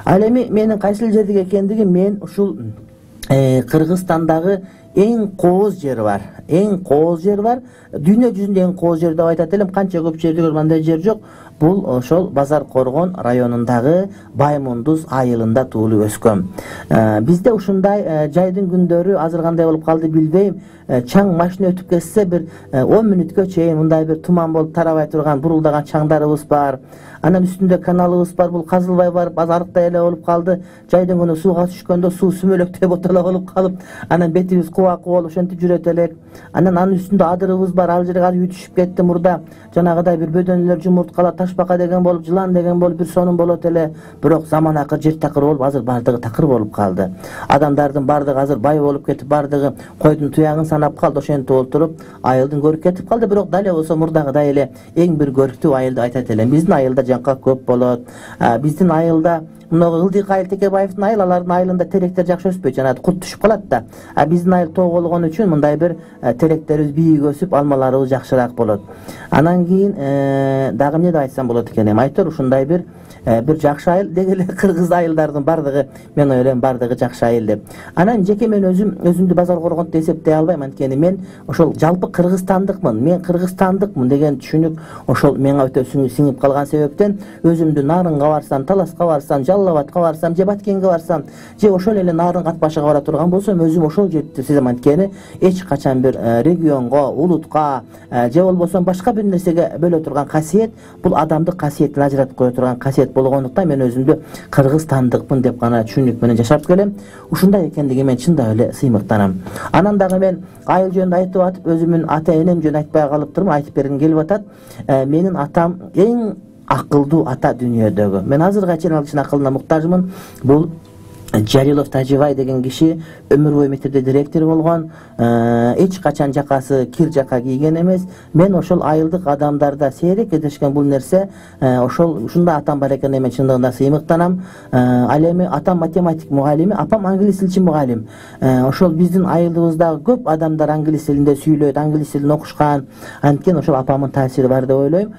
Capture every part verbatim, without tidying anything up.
Ал эми менин кайсыл жердеги экендигим, мен ушул Кыргызстандагы эң кооз жер бар. Эң кооз жер бар. Дүйнө жүзүндө эң кооз жер деп айтат элем. Канча көп жерде көргөн андай жер жок. Бул ошол Базар Коргон районундагы Баймундуз айылында туулуп өскөм. Бизде ушундай жайдын күндөрү азыр кандай болуп калды билбейм. Чаң машина өтүп кетсе бир он мүнөткө чейин мындай бир туман болуп тарабай турган бурулдаган чаңдарыбыз бар. Анан үстүндө каналыбыз бар, бул казылбай барып аз арыктай эле болуп калды. Жайдын күнү сууга түшкөндө суу сүмөлөктөй ботала болуп калып, анан бетибиз кубак болуп ошентип жүрөт элек. Анан анын үстүндө адырыбыз бар, ал жерге үй түшүп кетти мурда. Жанагыдай бир бөдөнлөр, жумурткалар, ташбака деген болуп, жылан деген болуп бир сонун болот эле. Бирок заман акыр жер такыр болуп, азыр бардыгы такыр болуп калды. Адамдардын бардыгы азыр бай болуп кетип, бардыгы койдун туягын санап калды, ошентип отуруп, айылдын көрүп кетип калды. Бирок дале болсо мурдагыдай эле эң бир көрктүү айыл деп айтат элем. Биздин айылда жаңка көп болот. Биздин айылда мына Ылдык айыл Текебаевдин айыл, алардын айылында теректер жакшы өспөйт, жана кут түшүп калат да. А биздин айыл тоо болгон үчүн мындай бир теректерибиз бийик өсүп, алмаларыбыз жакшыраак болот. Анан кийин дагы эмне деп айтсам болот экен эми, айтор ушундай бир бир жакшы айыл деги эле кыргыз айылдардын бардыгы, мен ойлойм бардыгы жакшы айыл деп. Анан жеке мен өзүм өзүмдү Базар Коргон деп эсептей албайм, анткени мен ошол жалпы кыргызстандыкмын. Мен кыргызстандыкмын деген түшүнүк ошол менга өтө сиңип калган себептен өзүмдү Нарынга барсам, Таласка барсам, Жалал Абадка барсам, же Баткенге барсам, же ошол эле Нарын Катбашыга бара турган болсом, өзүм ошол жерди сезем, анткени эч качан бир регионго, улутка же болбосо башка бир нерсеге бөлө турган касиет, бул адамдык касиеттен ажыратып кое турган касиет болгондуктан мен өзүмдү кыргызстандыкмын деп гана түшүнүк менен жашап келем. Ушундай экендиги мен чындап эле сыймыктанам. Анан дагы мен айыл жөнүндө айтып атып, өзүмдүн ата энем жөнүндө айтпай калыптырмын, айтып бергим келип атат. Менин атам эң акылдуу ата дүйнөдөгү. Мен азыркыга чейин ал кишинин акылына муктажмын. Бул Жалилов Тажибай деген киши өмүр бою мектепте директор болгон, эч качан жакасы кир жака кийген эмес. Мен ошол айылдык адамдарда сейрек кездешкен бул нерсе, ошол ушундай атам бар экенине мен чындыгында сыймыктанам. Ал эми атам математик мугалими, апам англис тилчи мугалим. Ошол биздин айылыбыздагы көп адамдар англис тилинде сүйлөйт, англис тилин окушкан. Анткени ошол апамдын таасири бар деп ойлойм.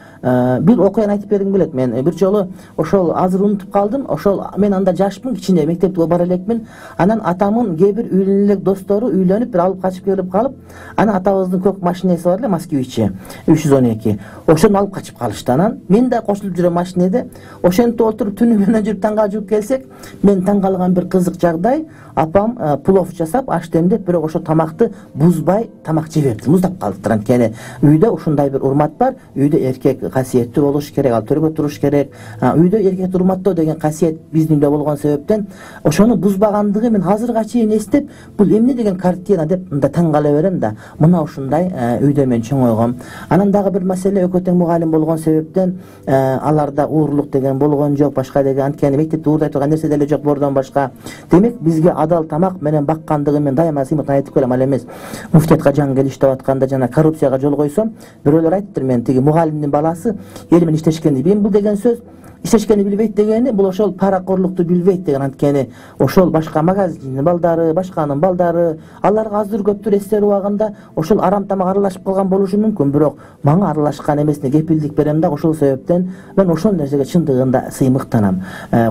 Бир окуяны айтып бергим келет. Мен бир жолу ошол азыр унутуп калдым. Ошол мен анда жашмын, кичине мектепте бара элекмин. Анан атамдын кээ бир үйлөнө элек достору үйлөнүп бир алып качып келип калып, анан атабыздын көк машинеси бар эле, Москвичи үч жүз он эки. Ошону алып качып калышты. Анан мен да кошулуп жүрөм машинеде. Ошентип отуруп түнү менен жүрүп таңга жууп келсек, мен таң калган бир кызык жагдай, апам плов жасап, аш демдеп, бирок ошо тамакты бузбай тамак жебепти, муздап калыптыр. Анткени үйдө ушундай бир урмат бар. Үйдө эркек касиеттүү болуш керек, ал төргө туруш керек. Үйдө эркекти урматтоо деген касиет биздин үйдө болгон себептен ошону бузбагандыгы мен азыркыга чейин эстеп, бул эмне деген картина деп мында таң кала берем да. Мына ушундай үйдө мен чоңойгом. Анан дагы бир маселе, экөө тең мугалим болгон себептен аларда уурлук деген болгон жок, башка деген, анткени мектепте уурдай турган нерсе деле жок бордон башка. Демек бизге адал тамак менен баккандыгын мен дайыма сыймыктан айтып келем. Ал эмес муфтиятка жаңы келиш деп атканда жана коррупцияга жол койсом, бирөөлөр айтыптыр, мен тиги мугалимдин баласы эл менен иштешкенди билбейм. Бул деген сөз иштешкени билбейт дегени, бул ошол паракорлукту билбейт деген. Анткени ошол башка магазиндин балдары, башканын балдары, аларга аздыр көптүр эстер убагында ошол арам тамак аралашып калган болушу мүмкүн, бирок мага аралашкан эмесине кепилдик берем да. Ошол себептен мен ошол нерсеге чындыгында сыймыктанам.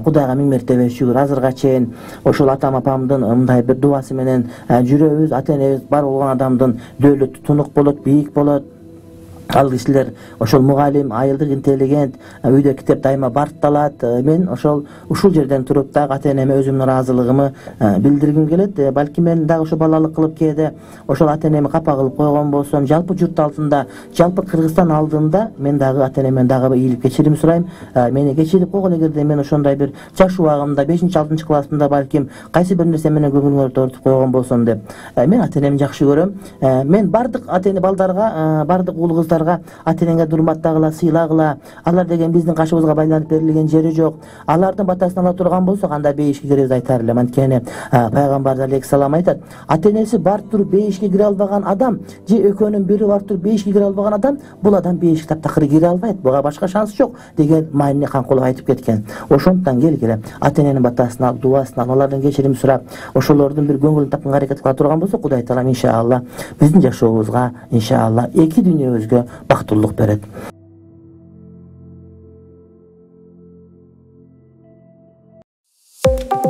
Кудайга миң мертебе шүгүр, азыркыга чейин ошол атам апамдын мындай бир дубасы менен жүрөбүз. Ата энебиз бар болгон адамдын дөөлөтү тунук болот, бийик болот. Ал кишилер ошол мугалим, айылдык интеллигент, үйдө китеп дайыма баркталат. Мен ошол ушул жерден туруп дагы ата энеме өзүмдүн ыраазылыгымы билдиргим келет. Балки мен дагы ошо балалык кылып кээде ошол ата энеми капа кылып койгон болсом, жалпы журт алдында, жалпы Кыргызстан алдында мен дагы ата энемден дагы бир ийгилик кечирим сурайм. Мени кечирип койгон, эгерде мен ошондой бир жаш убагымда бешинчи алтынчы классымда балким кайсы бир нерсе менен көңүлүңөрдү оорутуп койгон болсом деп. Мен ата энемди жакшы көрөм. Мен бардык ата эне балдарга, бардык уул кыздарга ата энеңе урматтагыла, сыйлагыла. Алар деген биздин кашыбызга байланып берилген жери жок. Алардын батасын ала турган болсок, анда бейишке киребиз айтар элем. Анткени пайгамбар алейхиссалам айтат, ата энеси бар туруп бейишке кире албаган адам же экөөнүн бири бар туруп бейишке кире албаган адам, бул адам бейишке таптакыр кире албайт. Буга башка шанс жок деген маани Канкулов айтып кеткен. Ошондуктан келгиле ата эненин батасын алып, дубасын алып, алардан кечирим сурап, ошолордун бир көңүлүн тапканга аракет кыла турган болсок, Кудай таалам иншалла биздин жашообузга иншалла эки дүйнөбүзгө бактылуулук берет. болот.